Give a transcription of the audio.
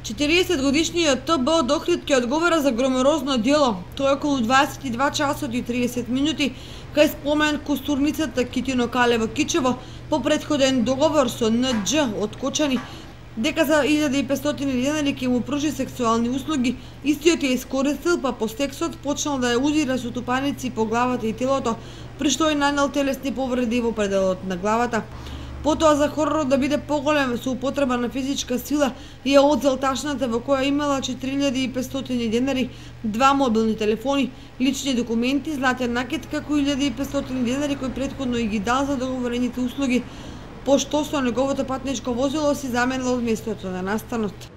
40-годишниот ТБ од Охрид ќе одговара за громорозно дело. Тоа е околу 22 часот и 30 минути кај спомен костурницата Китино Калево Кичево по претходен договор со НД од Кочани дека за 1500 денари ќе му пружи сексуални услуги. Истиот ја искористил, па по сексот почнал да ја удира со тупаници по главата и телото, при што е нанел телесни повреди во пределот на главата. Потоа за хоророт да биде поголем со употреба на физичка сила ја одзел ташната во која имала 4500 денари, 2 мобилни телефони, лични документи, златен накид како 1500 денари кои претходно и ги дал за договорените услуги, пошто со неговото патничко возило си заменил од местото на настанот.